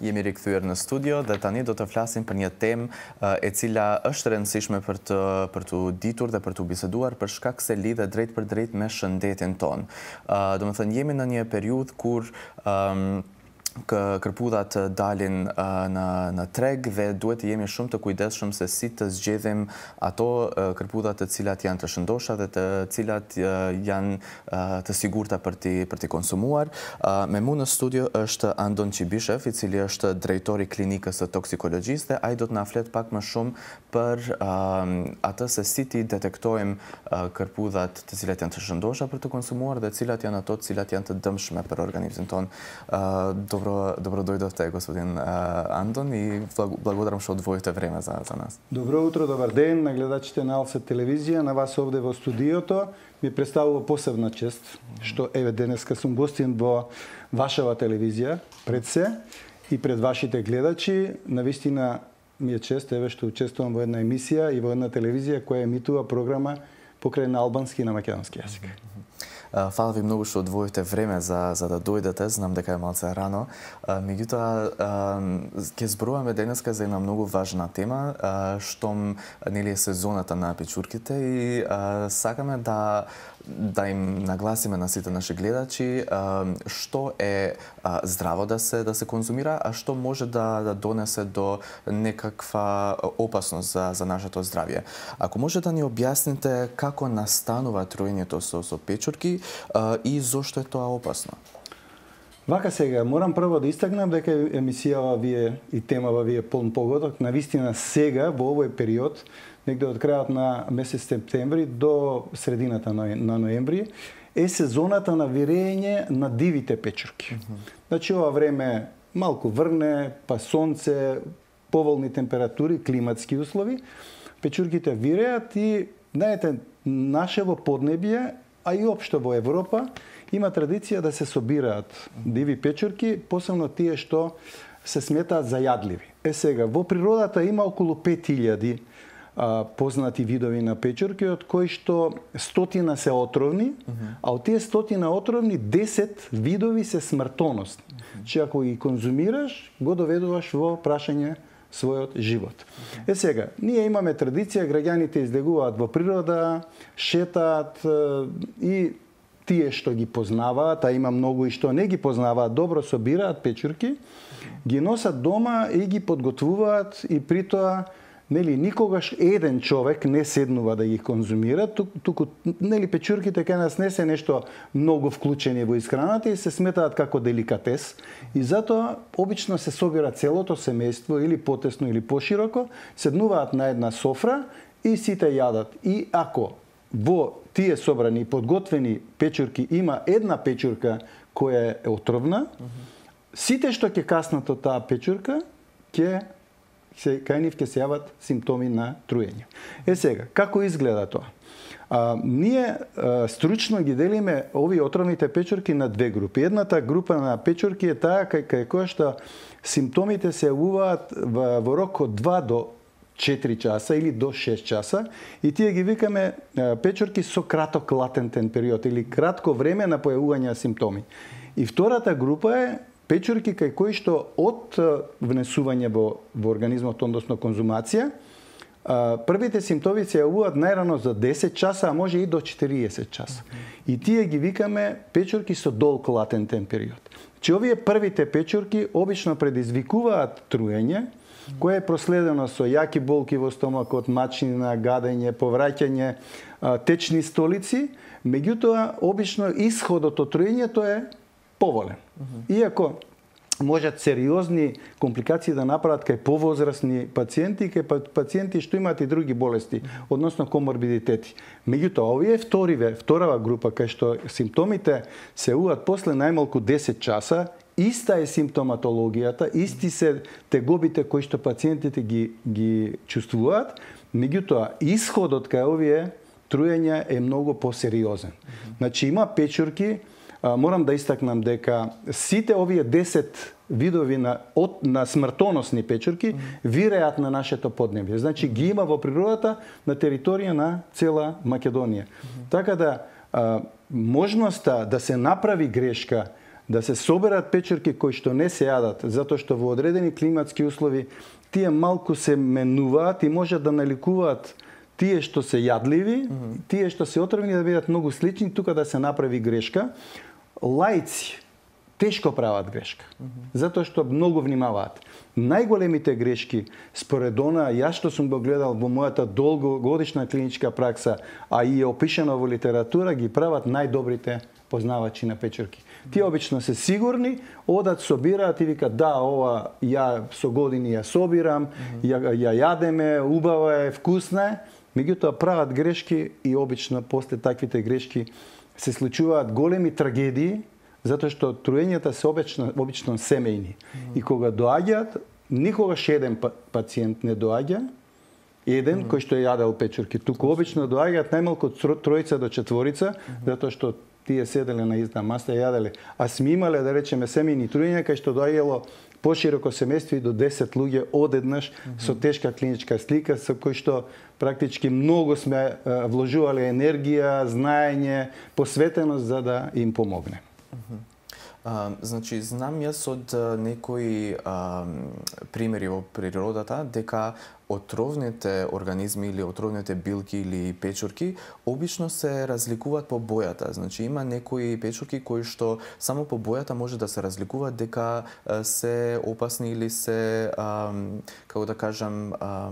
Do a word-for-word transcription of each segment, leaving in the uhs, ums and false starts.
Jemi rikthyer në studio dhe tani do të flasim për një temë e cila është e rëndësishme për të për të ditur dhe për të biseduar për shkak se lidhet drejt për drejt me shëndetin ton. Uh, do të thënë jemi në një periudhë kur um, kërpudhat dalin në, në treg dhe duhet të jemi shumë të kujdesshëm se si të zgjedhim ato kërpudhat të cilat janë të shëndosha dhe të cilat janë të sigurta për ti, për ti konsumuar. Me mu në studio është Andon Qibishev, i cili është drejtori klinikës së toksikologjisë dhe ai do të na flet pak më shumë për uh, atë se si ti detektojmë uh, kërpudhat të cilat janë të shëndosha për të konsumuar dhe cilat janë ato të cilat janë të dëmshme për organizmin ton. Uh, Dobro, dobro дойдов те, господин Андон, и благодарам што одвоите време за, за нас. Добро утро, добар ден на гледачите на Алсет телевизија, на вас овде во студиото. Ми представува посебна чест што еве денеска сум гостин во вашава телевизија, пред се и пред вашите гледачи. Навистина ми е чест еве што учествувам во една емисија и во една телевизија која емитува програма покрај на албански и на македонски јазик. Фала ви многу што одвоите време за, за да дојдете, знам дека е малце рано. Меѓутоа, ќе зборуваме денеска за една многу важна тема, штом нели е сезоната на печурките и сакаме да да им нагласиме на сите наши гледачи што е здраво да се да се конзумира, а што може да да донесе до некаква опасност за за нашето здравје. Ако може да ни објасните како настанува труењето со со печурки и зошто е тоа опасно? Вака сега, морам прво да истакнам дека емисијава вие и темава вие полн погодок, навистина сега во овој период, негде од крајот на месец септември до средината на ноември, е сезоната на вирење на дивите печурки. Mm -hmm. Значи, ова време малку врне, па сонце, поволни температури, климатски услови, печурките виреат и, знаете, нашево поднебје, а и општо во Европа, има традиција да се собираат диви печурки, посебно тие што се сметаат за јадливи. Е сега, во природата има околу пет илјади а, познати видови на печурки, од кои што стотина се отровни, uh -huh. а од тие стотина отровни, десет видови се смртоносни. Uh -huh. Че ако ги конзумираш, го доведуваш во прашање својот живот. Okay. Е сега, ние имаме традиција, граѓаните излегуваат во природа, шетаат и тие што ги познаваат, а има многу и што не ги познаваат, добро собираат печурки, ги носат дома и ги подготвуваат и при тоа нели никогаш еден човек не седнува да ги конзумира, туку нели печурките кај нас не се нешто многу вклучени во исхраната и се сметаат како деликатес и затоа обично се собира целото семејство или потесно или пошироко, седнуваат на една софра и сите јадат. И ако во тие собрани и подготвени печурки има една печурка која е отровна, сите што ќе каснат од таа печурка ќе се кај нив ќе се јават симптоми на труење. Е сега, како изгледа тоа? А, ние а, стручно ги делиме овие отровните печурки на две групи. Едната група на печурки е таа кај, кај која што симптомите се јавуваат во, во рок од два до четири часа или до шест часа и тие ги викаме а, печурки со краток латентен период или кратко време на појавување на симптоми. И втората група е печурки кај кои што од внесување во, во организмот, односно конзумација, првите симптоми се јавуваат најрано за десет часа, а може и до четириесет часа. Okay. И тие ги викаме печурки со долг латентен период. Че овие првите печурки обично предизвикуваат труење, кое е проследено со јаки болки во стомакот, мачнина, гадење, повраќање, течни столици, меѓутоа обично исходот од труењето е поволен. Uh-huh. Иако можат сериозни компликации да направат кај повозрасни пациенти, кај пациенти што имаат и други болести, uh-huh. односно коморбидитети. Меѓутоа, овие вториве, вторава група, кај што симптомите се јавуваат после најмалку десет часа, иста е симптоматологијата, исти се тегобите кои што пациентите ги, ги чувствуваат, меѓутоа, исходот кај овие труења е многу посериозен. Uh-huh. Значи, има печурки, морам да истакнам дека сите овие десет видови на от, на смртоносни печурки mm -hmm. виреат на нашето поднебје. Значи ги има во природата на територија на цела Македонија. Mm -hmm. Така да а, можноста да се направи грешка да се соберат печурки кои што не се јадат, затоа што во одредени климатски услови тие малку се менуваат и можат да наликуваат тие што се јадливи, mm-hmm. тие што се отровни да бидат многу слични, тука да се направи грешка. Лаици тешко прават грешка, mm-hmm. затоа што многу внимаваат. Најголемите грешки, според она, јас што сум го гледал во мојата долгогодишна клиничка пракса, а и е опишано во литература, ги прават најдобрите познавачи на печурки. Тие обично се сигурни, одат, собираат и викат да, ова ја со години ја собирам, mm-hmm. ја, ја јадеме, убава е, вкусна е, меѓутоа прават грешки и обично после таквите грешки се случуваат големи трагедии, затоа што труењата се обично, обично семејни. Mm-hmm. И кога доаѓаат, никогаш еден пациент не доаѓа, еден mm-hmm. кој што е јадел печурки. Туку обично доаѓаат најмалку тројца до четворица, mm-hmm. затоа што тие седеле на изна маса и јаделе. А сме имале, да речеме, семејни труења, кај што доаѓало пошироко семејство и до десет луѓе одеднаш mm-hmm. со тешка клиничка слика, со кој што практички многу сме вложувале енергија, знаење, посветеност за да им помогне. Mm-hmm. А, значи, знам јас од некои а, примери во природата дека отровните организми или отровните билки или печурки обично се разликуваат по бојата. Значи, има некои печурки кои што само по бојата може да се разликуваат дека се опасни или се, а, како да кажам, а,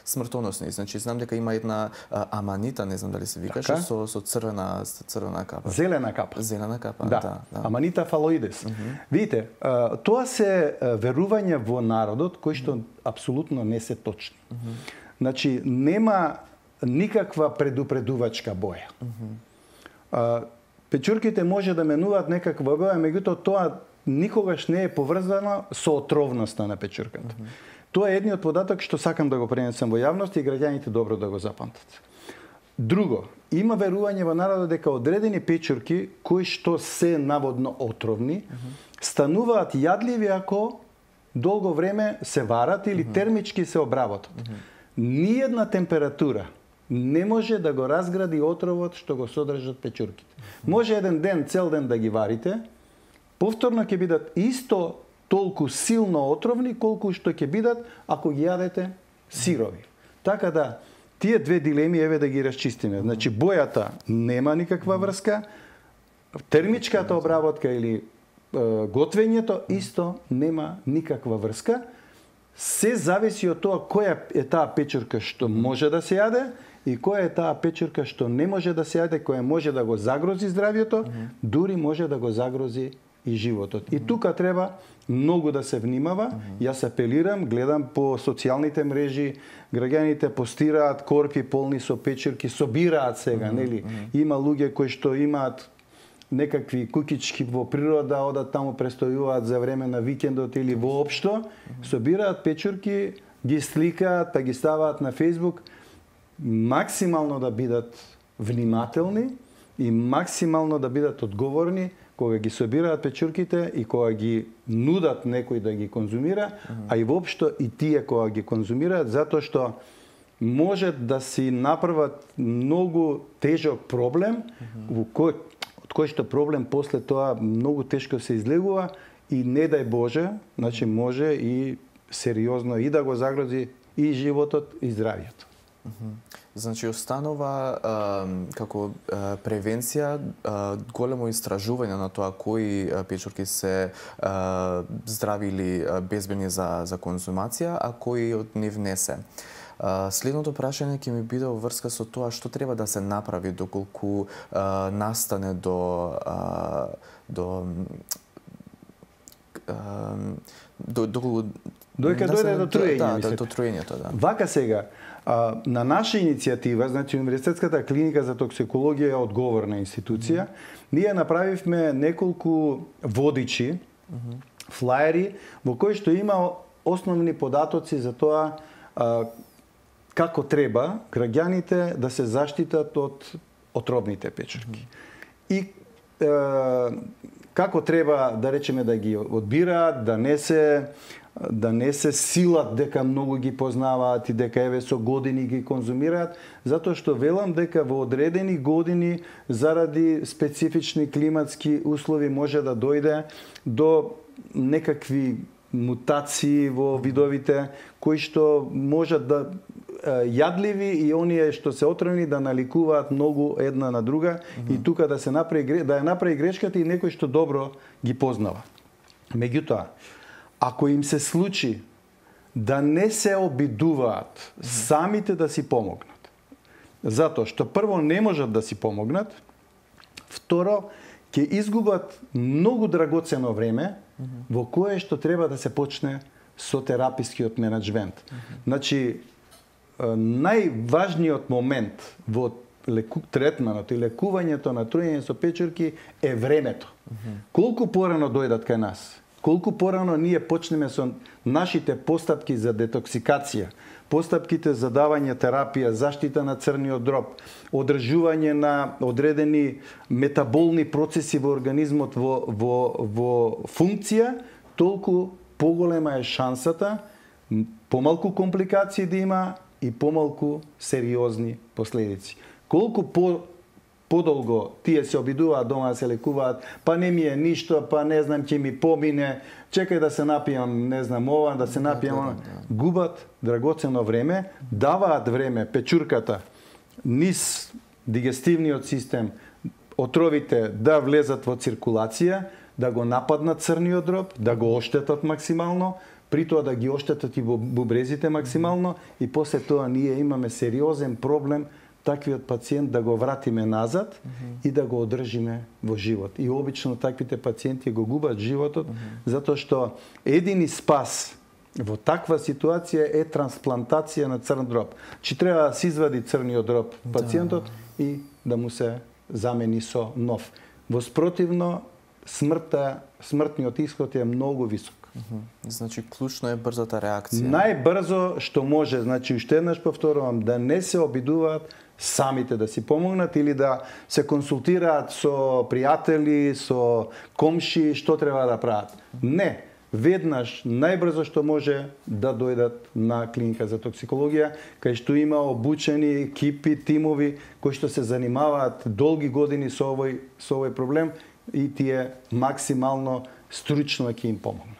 смртоносни. Значи, знам дека има една а, аманита, не знам дали се викаше, со, со црвена, црвена капа. Зелена капа. Зелена капа, да. да. да. Аманита фалоидес. Mm-hmm. Видите, а, тоа се верувања во народот кои што mm-hmm. апсолутно не се точни. Mm-hmm. Значи, нема никаква предупредувачка боја. Mm-hmm. а, печурките може да менуваат некаква боја, меѓутоа тоа никогаш не е поврзано со отровноста на печурката. Mm-hmm. Тоа е едниот податок што сакам да го пренесам во јавност и граѓаните добро да го запамтат. Друго, има верување во народот дека одредени печурки кои што се наводно отровни, mm-hmm. стануваат јадливи ако долго време се варат или mm-hmm. термички се обработат. Mm-hmm. Ниедна температура не може да го разгради отровот што го содржат печурките. Mm-hmm. Може еден ден, цел ден да ги варите, повторно ќе бидат исто толку силно отровни колку што ќе бидат ако ги јадете сирови. Така да, тие две дилеми еве да ги расчистиме. Значи, бојата нема никаква врска, термичката обработка или е, готвењето исто нема никаква врска. Се зависи од тоа која е таа печурка што може да се јаде и која е таа печурка што не може да се јаде, која може да го загрози здравјето, дури може да го загрози и животот. И тука треба многу да се внимава. Mm-hmm. Јас апелирам, гледам по социјалните мрежи, граѓаните постираат корпи полни со печурки, собираат сега, mm-hmm. нели? Mm-hmm. Има луѓе кои што имаат некакви кукички во природа, одат таму престојуваат за време на викендот или воопшто, mm-hmm. собираат печурки, ги сликаат, па ги ставаат на Facebook, максимално да бидат внимателни и максимално да бидат одговорни кога ги собираат печурките и кога ги нудат некој да ги конзумира, uh-huh. а и воопшто и тие кога ги конзумираат, затоа што може да си направат многу тежок проблем, uh-huh. во кој, од кој што проблем после тоа многу тешко се излегува и не дај Боже, значи може и сериозно и да го загрози и животот и здравјето. Uh-huh. Значи, останува а, како а, превенција а, големо истражување на тоа кои а, печурки се а, здрави или а, безбедни за, за конзумација, а кои од нив не се. А, следното прашање ќе ми биде во врска со тоа што треба да се направи доколку а, настане до а, до а, до доколку Дојка дојде до труење, да, да, до труењето, да. Вака сега, а, на наша иницијатива, значи Универзитетската клиника за токсикологија е одговорна институција, mm-hmm. ние направивме неколку водичи, mm-hmm. флаери, во кои што има основни податоци за тоа а, како треба граѓаните да се заштитат од отровните печурки. Mm-hmm. И а, како треба, да речеме, да ги одбираат, да не се да не се силат дека многу ги познаваат и дека еве со години ги конзумираат, затоа што велам дека во одредени години заради специфични климатски услови може да дојде до некакви мутации во видовите кои што можат да јадливи и оние што се отровни да наликуваат многу една на друга mm -hmm. и тука да се направи да ја направи грешката и некој што добро ги познава. Меѓутоа, ако им се случи да не се обидуваат mm -hmm. самите да си помогнат, затоа што прво не можат да си помогнат, второ ќе изгубат многу драгоцено време mm -hmm. во кое што треба да се почне со терапискиот менаџмент. Mm -hmm. Значи, најважниот момент во леку, третманот и лекувањето на труење со печурки е времето. Mm -hmm. Колку порано дојдат кај нас, колку порано ние почнеме со нашите постапки за детоксикација, постапките за давање терапија, заштита на црниот дроб, одржување на одредени метаболни процеси во организмот во, во, во функција, толку поголема е шансата помалку компликации да има и помалку сериозни последици. Колку по подолго тие се обидуваат дома да се лекуваат, па не ми е ништо, па не знам ќе ми помине, чекај да се напијам, не знам ова, да се напијам ова, губат драгоцено време, даваат време печурката низ дигестивниот систем, отровите да влезат во циркулација, да го нападнат црниот дроб, да го оштетат максимално, при тоа да ги оштетат и во бубрезите максимално и после тоа ние имаме сериозен проблем таквиот пациент да го вратиме назад mm -hmm. и да го одржиме во живот. И обично таквите пациенти го губат животот, mm -hmm. затоа што едини спас во таква ситуација е трансплантација на црн дроб. Чи треба да се извади црниот дроб пациентот да. и да му се замени со нов. Во спротивно, смртта, смртниот исход е многу висок. Mm -hmm. Значи, клучно е брзата реакција. Најбрзо што може, значи, уште еднаш повторувам, да не се обидуваат самите да си помогнат или да се консултираат со пријатели, со комши, што треба да прават. Не, веднаш, најбрзо што може да дојдат на клиника за токсикологија, кај што има обучени екипи, тимови кои што се занимаваат долги години со овој со овој проблем и тие максимално стручно ќе им помогнат.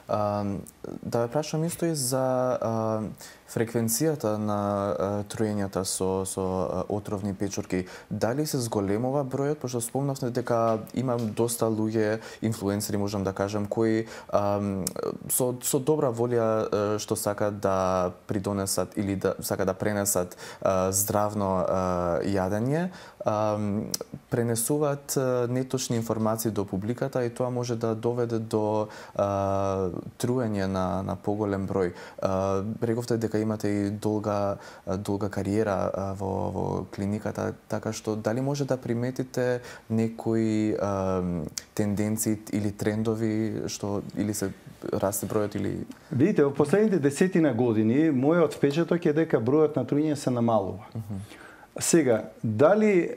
Uh, да ве прашам исто и за uh, фреквенцијата на uh, труењата со, со uh, отровни печурки. Дали се зголемува бројот, пошто спомнавте дека имам доста луѓе, инфлуенсери можам да кажам, кои um, со, со добра волја uh, што сакат да придонесат или да сакат да пренесат uh, здравно uh, јадење, um, пренесуваат uh, неточни информации до публиката и тоа може да доведе до uh, труење на, на поголем број. Uh, рековте дека имате и долга, долга кариера uh, во, во клиниката, така што дали може да приметите некои uh, тенденции или трендови што или се расте бројот или... Видите, во последните десетина години мојот впечаток е дека бројот на труење се намалува. Uh -huh. Сега, дали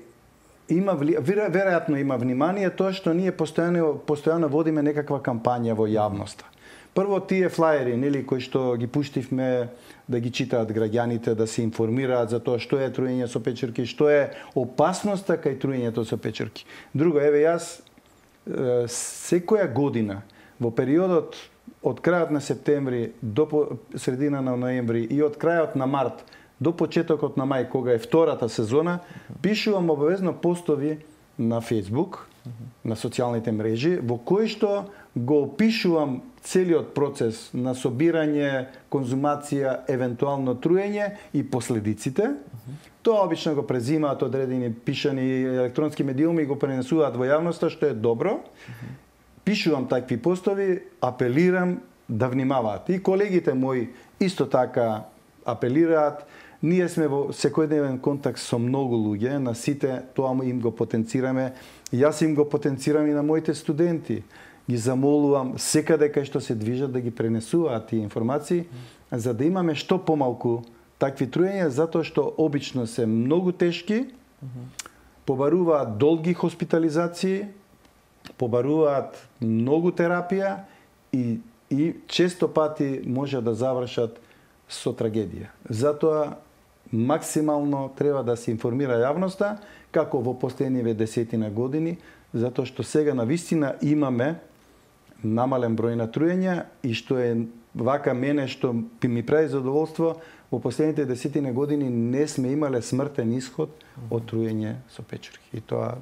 има веројатно има внимание тоа што ние постојано постојано водиме некаква кампања во јавноста. Прво тие флаери, нели, кои што ги пуштивме да ги читаат граѓаните, да се информираат за тоа што е труење со печурки, што е опасноста кај труењето со печурки. Друго, еве јас секоја година во периодот од крајот на септември до средина на ноември и од крајот на март до почетокот на мај, кога е втората сезона, пишувам обавезно постови на Facebook, на социјалните мрежи, во кои што го опишувам целиот процес на собирање, конзумација, евентуално труење и последиците. Тоа обично го презимаат одредени пишани електронски медиуми и го пренесуваат во јавноста, што е добро. Пишувам такви постови, апелирам да внимаваат. И колегите мои исто така апелираат. Ние сме во секојдневен контакт со многу луѓе, на сите тоа им го потенцираме. Јас им го потенцирам и на моите студенти. Ги замолувам секаде кај што се движат да ги пренесуваат тие информации, за да имаме што помалку такви труења, затоа што обично се многу тешки, побаруваат долги хоспитализации, побаруваат многу терапија и, и често пати може да завршат со трагедија. Затоа максимално треба да се информира јавноста, како во последниве десетина години, затоа што сега навистина имаме намален број на труења и што е вака мене што ми прави задоволство, во последните десетина години не сме имале смртен исход од труење со печурки. И тоа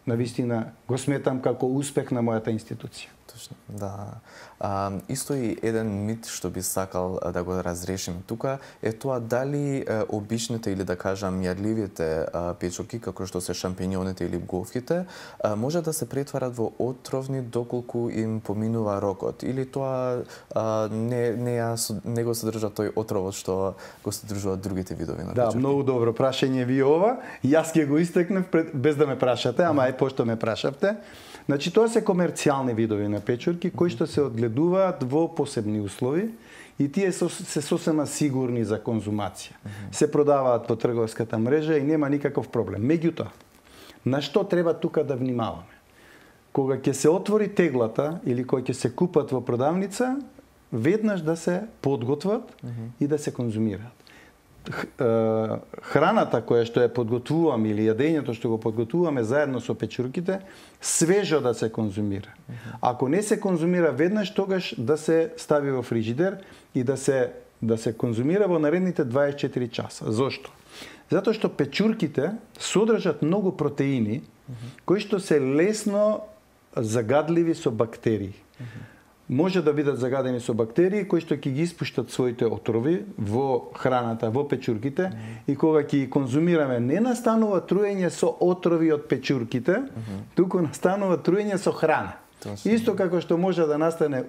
навистина го сметам како успех на мојата институција. Точно, да. А, исто и еден мит што би сакал да го разрешим тука е тоа дали е, обичните или да кажам јадливите печурки, како што се шампиньоните или говките, а, може да се претварат во отровни доколку им поминува рокот, или тоа а, не не, ја, не го содржа тој отровот што го содржуваат другите видови на печурки. Да, многу добро прашање ви ова. Јас ќе го истекнев без да ме прашате, ама ај пошто ме прашавте. Значи, тоа се комерцијални видови на печурки кои што се одгледуваат во посебни услови и тие се сосема сигурни за конзумација. Се продаваат во трговската мрежа и нема никаков проблем. Меѓутоа, на што треба тука да внимаваме? Кога ќе се отвори теглата или кога ќе се купат во продавница, веднаш да се подготват и да се конзумираат. Храната која што ја подготвуваме или јадењето што го подготвуваме заедно со печурките, свежо да се конзумира. Ако не се конзумира веднаш, тогаш да се стави во фрижидер и да се да се конзумира во наредните дваесет и четири часа. Зошто? Затоа што печурките содржат многу протеини кои што се лесно загадливи со бактерии. Може да бидат загадени со бактерии кои што ќе ги испуштат своите отрови во храната, во печурките, и кога ќе ги конзумираме, не настанува труење со отрови од печурките, туку настанува труење со храна. Точно. Исто како што може да настане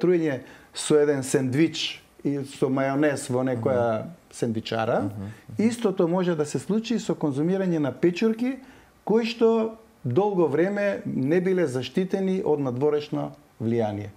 труење со еден сендвич и со мајонез во некоја сендвичара, истото може да се случи со конзумирање на печурки кои што долго време не биле заштитени од надворешно влијание.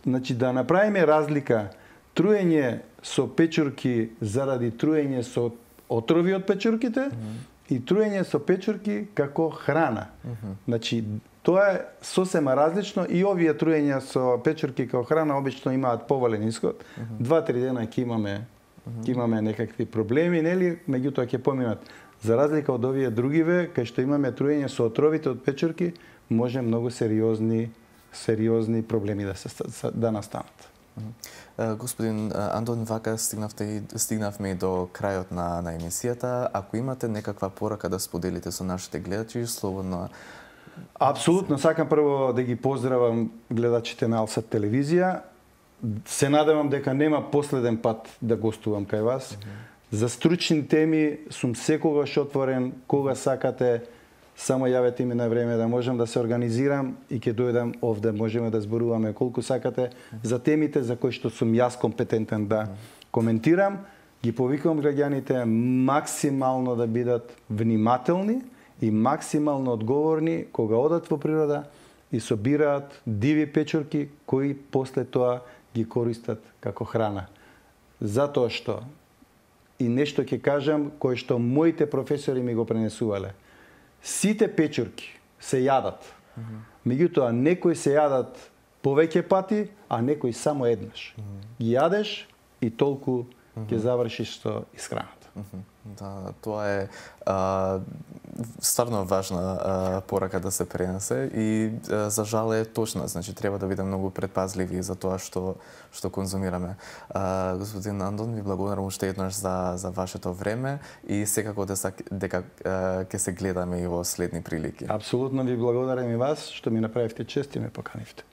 Значи, да направиме разлика труење со печурки заради труење со отрови од печурките mm -hmm. и труење со печурки како храна. Mm -hmm. Значи, тоа е сосема различно и овие труења со печурки како храна обично имаат повален исход. Mm -hmm. Два-три дена ќе имаме, mm -hmm. ќе имаме некакви проблеми, нели? Меѓутоа ќе поминат. За разлика од овие другиве, кај што имаме труење со отровите од печурки, може многу сериозни сериозни проблеми да се да настанат. Господин Андон, вака стигнавте стигнавме и до крајот на на емисијата. Ако имате некаква порака да споделите со нашите гледачи, слободно. Апсолутно, сакам прво да ги поздравам гледачите на Алсат телевизија. Се надевам дека нема последен пат да гостувам кај вас. Mm-hmm. За стручни теми сум секогаш отворен, кога сакате. Само јавете ми на време да можам да се организирам и ќе дојдам овде, можеме да зборуваме колку сакате за темите за кои што сум јас компетентен да коментирам. Ги повикувам граѓаните максимално да бидат внимателни и максимално одговорни кога одат во природа и собираат диви печурки кои после тоа ги користат како храна. Затоа што и нешто ќе кажам кое што моите професори ми го пренесувале. Сите печурки се јадат. Mm -hmm. Меѓутоа, некои се јадат повеќе пати, а некои само еднаш. Mm -hmm. Ги јадеш и толку mm -hmm. ќе завршиш со исхраната. Mm -hmm. Да, тоа е а, стварно важна а, порака да се пренесе и а, за жал е точна, значи треба да бидеме многу предпазливи за тоа што што конзумираме. А, господин Андон, ви благодарам уште еднаш за за вашето време и секако дека дека ќе се гледаме и во следни прилики. Апсолутно ви благодарам и вас што ми направивте чест и ме поканивте.